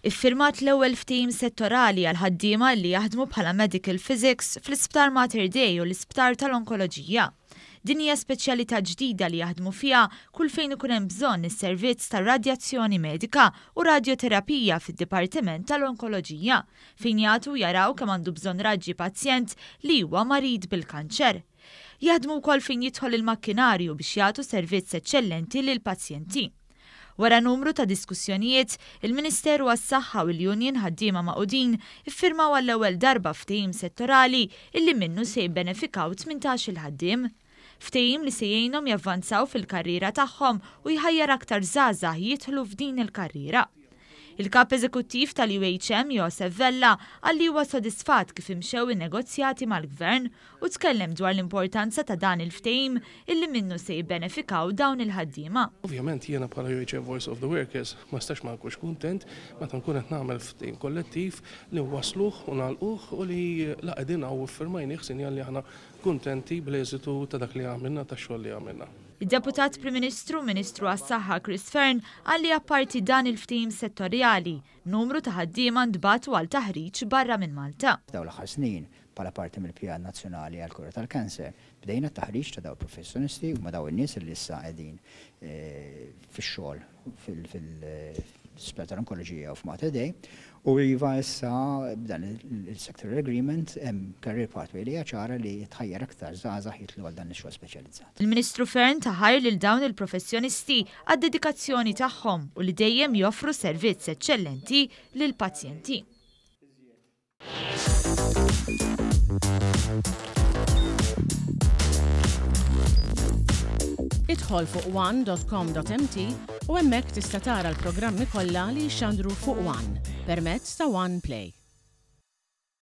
Iffirmat l-ewwel ftehim settorali għal ħaddiema li jaħdmu bħala Medical Physics fl-Isptar Mater Dei u l-Isptar tal-Onkoloġija. Din hija speċjalità ġdida li jaħdmu fiha kull fejn ikun hemm bżonn is-servizz ta' radjazzjoni medika u radjoterapija fid-Dipartiment tal-Onkoloġija, fejn jagħtu u jaraw kemm għandu bżonn raġġi pazjent li huwa marid bil-kanċer. Jaħdmu wkoll fejn jidħol il-makkinarju biex jagħtu servizz eċċellenti lill-pazjenti. Wara numru ta' diskussjonijiet, il-Ministeru għas-Saħħa u l-Union Ħaddiema Magħqudin iffirmaw għall-ewwel darba ftehim settorali illi minnu se jibbenefikaw 18-il ħaddiem. Ftehim li se jgħinhom javvanzaw fil-karriera tagħhom u jħajjar aktar żgħażagħ jidħlu f'din il-karriera. Il-Kap Eżekuttiv tal-UHM Josef Vella qal li huwa sodisfatt kif imxew in-negozjati mal-Gvern u tkellem dwar l-importanza ta' dan il-ftehim illi minnu se jibbenefikaw dawn il-ħaddiema. Ovvjament jiena bħala UHM Voice of the Workers ma nistax ma nkunx kuntent meta nkun qed nagħmel ftehim kollettiv li nwassluh u nagħlquh u li la qegħdin hawn u ffirmajnih sinjal li aħna kuntenti bl-eżitu ta' dak li għamilna, tax-xogħol li għamilna. Id-Deputat Prim Ministru u Ministru għas-Saħħa Chris Fearne qal li apparti dan il-ftehim settorjali, numru ta' ħaddiema ntbagħtu għal taħriġ barra minn Malta. F'dawn l-aħħar snin, bħala parti mill-Pjan Nazzjonali għall-Kura tal-Kanser, bdejna t-taħriġ ta' dawn il-professjonisti, huma dawn in-nies li issa qegħdin fix-xogħol fil-Isptar tal-Onkoloġija u f'Mater Dei. U iva issa b'dan il-sectoral agreement hemm career pathway li hija ċara li tħajjar aktar żgħażagħ jidħlu għal dan ix-xogħol speċjalizzat. Il-Ministru Fearne ta ħajr lil dawn il-professjonisti għad-dedikazzjoni tagħhom u li dejjem joffru servizz eċċellenti lill-pazjenti. Idħol fuq one.com.mt u hemmhekk tista' tara l-programmi kollha li jixxandru fuq One permezz ta' One Play.